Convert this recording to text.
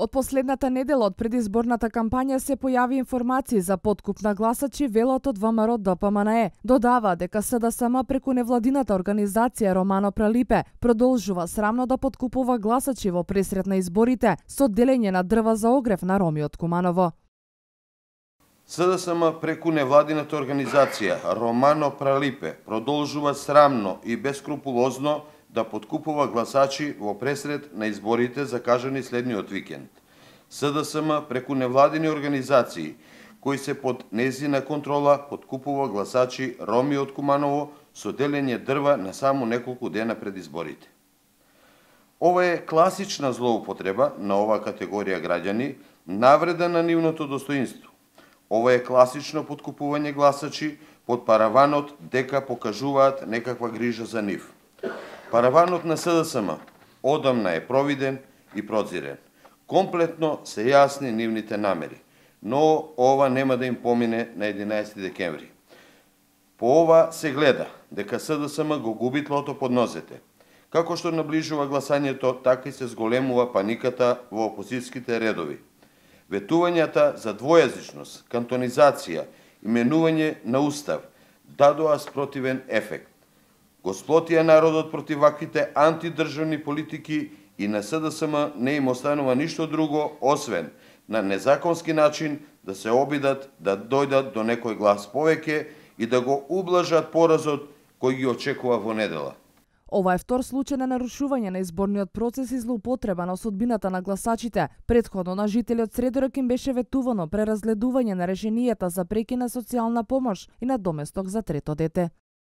Од последната недела од предизборната кампања се појави информации за подкуп на гласачи, велат од ВМРО ДПМНЕ. Додава дека СДСМ преку невладината организација Романо Пралипе продолжува срамно да подкупува гласачи во пресрет на изборите со делење на дрва за огрев на роми од Куманово. СДСМ преку невладината организација Романо Пралипе продолжува срамно и бескрупулозно да подкупува гласачи во пресрет на изборите закажани следниот викенд. СДСМ преку невладини организации кои се под нејзина контрола подкупува гласачи роми од Куманово со делење дрва на само неколку дена пред изборите. Ова е класична злоупотреба на оваа категорија граѓани, навреда на нивното достоинство. Ова е класично подкупување гласачи под параванот дека покажуваат некаква грижа за нив. Параванот на СДСМ одамна е провиден и прозирен. Комплетно се јасни нивните намери, но ова нема да им помине на 11 декември. По ова се гледа дека СДСМ го губи тлото под нозете. Како што наближува гласањето, така и се зголемува паниката во опозицијските редови. Ветувањата за двојазичност, кантонизација, именување на устав дадоа спротивен ефект. Го сплотија народот против ваквите антидржавни политики и на СДСМ не им останува ништо друго, освен на незаконски начин да се обидат да дојдат до некој глас повеќе и да го ублажат поразот кој ги очекува во недела. Ова е втор случај на нарушување на изборниот процес и злоупотреба на судбината на гласачите. Претходно на жителот Средорок им беше ветувано преразгледување на решенијата за прекина социјална помош и на доместок за трето дете.